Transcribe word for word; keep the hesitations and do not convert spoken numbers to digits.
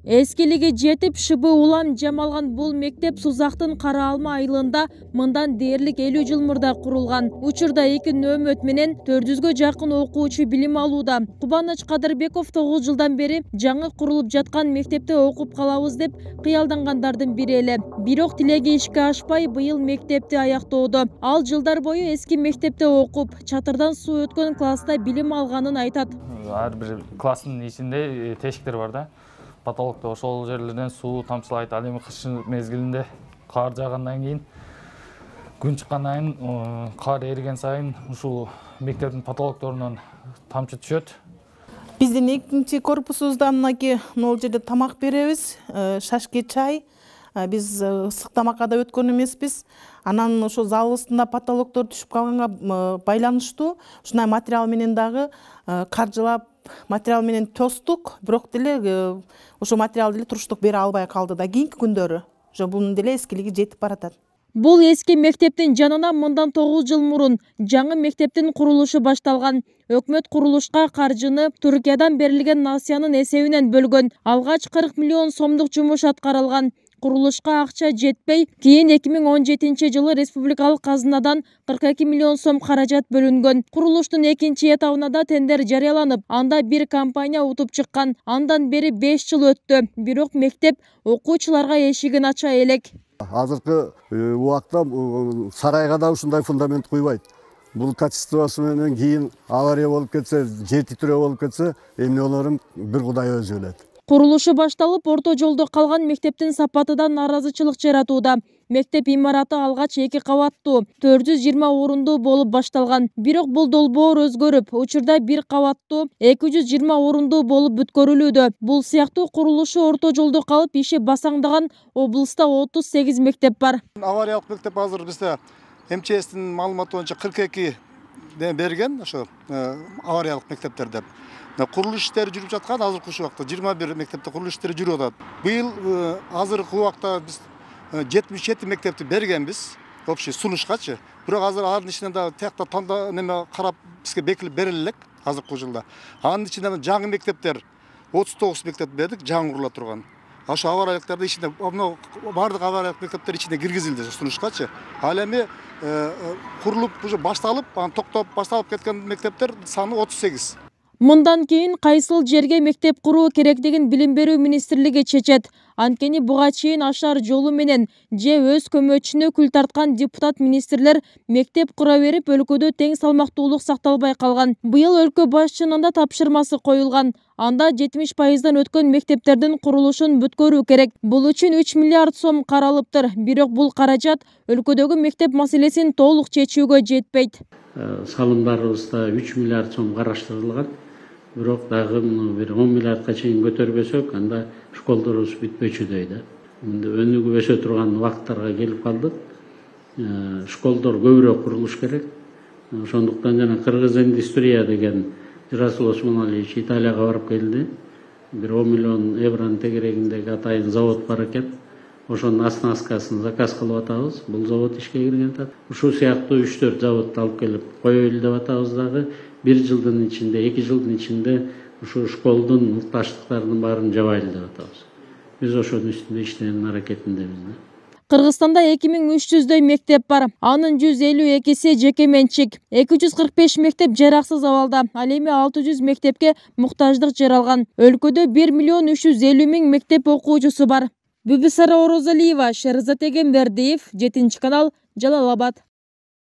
Эскилиги жетип шыбы улам жамалган бул мектеп Сузактын Кара Алма айылында мындан дээрлик элүү жыл мурда курулган. Учурда эки нөөмөт менен төрт жүзгө жакын окуучу билим алууда. Кубаныч Кадырбеков тогуз жылдан бери жаңы курулуп жаткан мектепте окуп калабыз деп кыялдангандардын бири эле. Бирок тилеги ишке ашпай быйыл мектепти аяктоодо. Ал жылдар бою эски мектепте окуп, чатырдан суу өткөн класста билим алганын айтат. Ар бир класстын ичинде тешиктер бар да. Потолокто ошол жерлерден суу тамчылайт. Ал эми кыш мезгилинде кар жаагандан кийин, күн чыккандан кийин, кар эриген сайын ушул мектептин потолокторунан тамчы түшөт. Биздин экинчи корпусубузда мынакей могул жерде тамак беребиз, шашке чай. Биз ысык тамакка да өткөн эмеспиз. Анан ошо зал астында потолоктор түшүп калганга байланыштуу ушундай материал менен дагы каржылап материал менен тостук, бирок деле ошо материал деле туруштук бере албай калды да кийинки күндөрү. Ошо бунун деле эскилиги жетип баратат. Бул эски мектептин жанына мындан тогуз жыл мурун жаңы мектептин курулушу башталган. Өкмөт курулушка каржыны Түркиядан берилген насыянын эсебинен бөлгөн. Алгач кырк миллион сомдук жумуш аткарылган. Курулушка акча жетпей, кийин эки миң он жетинчи жылы республикалык казынадан кырк эки миллион сом каражат бөлүнгөн. Курулуштун экинчи этабына да тендер жарыяланып, анда бир компания утуп чыккан. Андан бери беш жыл өттү. Бирок мектеп окуучуларга эшигин ача элек. Азыркы убакта сарайга да ушундай фундамент куйбайт. Бул качествосу менен кийин авария болуп кетсе, жер титирөө болуп кетсе, эмне болорун бир Кудай өзү билет. Курулушу башталып, орто жолдо калган мектептин сапатыдан наразычылык жаратууда. Мектеп имараты алгач эки кабаттуу, төрт жүз жыйырма орундуу болуп башталган. Бирок бул долбоор өзгөрүп, учурда бир кабаттуу, эки жүз жыйырма орундуу болуп бүткөрүлүүдө. Бул сыяктуу курулушу орто жолдо калып, иши басаңдаган облуста отуз сегиз мектеп бар. Авариялык мектеп азыр бизде эм че эстин маалыматы боюнча кырк эки берген, ошо авариялык мектептер деп. Курулуш иштери жүрүп жаткан азыркы убакта жыйырма бир мектепте курулуш иштери жүрүп атат. Быйыл азыркы убакта биз жетимиш жети мектепти бергенбиз, общий сунушкачы. Бирок азыр анын ичинен да тиякта танда неме карап бизге бекилип бериле элек азыркы жылда. Анын ичинде жаңы мектептер отуз тогуз мектеп бердик, жаңы курула турган. Ошо авариялыктарды ичинде бардык авариялык мектептер ичине киргизилди сунушкачы. Ал эми курулуп уже башталып, анан токтоп башталып кеткен мектептер саны отуз сегиз. Мындан кийин кайсыл жерге мектеп куруу керектигин Билим берүү министрлиги чечет. Анткени буга чейин ашар жолу менен же өз көмөчүнө күл тарткан депутат министрлер мектеп кура берип, өлкөдө тең салмактуулук сакталбай калган. Быйыл өлкө башчынын да тапшырмасы коюлган. Анда жетимиш пайыздан өткөн мектептердин курулушун бүткөрүү керек. Бул үчүн үч миллиард сом каралыптыр. Бирок бул каражат өлкөдөгү мектеп маселесин толук чечүүгө жетпейт. Салымдарыбызда үч миллиард сом караштырылган. Бирок дагы бир он миллиардка чейин көтөрбөсөк, анда школдорубуз бүтпөчүдөй да. Өнүгүп турган убакыттарга келип калдык. Школдор көбүрөөк курулуш керек. Ошондуктан жана Кыргыз индустрия деген Расул Осмоналиевич Италияга барып келди. Бир он миллион евронун тегерегиндеги атайын завод бар экен. Ошонун оснасткасын заказ кылып атабыз. Бул завод ишке кирген атат. Ушул сыяктуу үч төрт заводду алып келип коелу деп атабыз дагы. Бир жылдын ичинде, эки жылдын ичинде ушу школдун муктаждыктарынын баарын жабайлы деп атабыз. Биз ошонун үстүндө иштөөнүн аракетиндебиз. Кыргызстанда эки миң үч жүздөй мектеп бар. Анын жүз элүү экиси жеке менчик. эки жүз кырк беш мектеп жараксыз абалда. Ал эми алты жүз мектепке муктаждык жаралган. Өлкөдө бир миллион үч жүз элүү миң мектеп окуучусу бар. Бүбүсара Орозалиева, Шерзат Эгембердиев, жетинчи канал, Жалал Абад.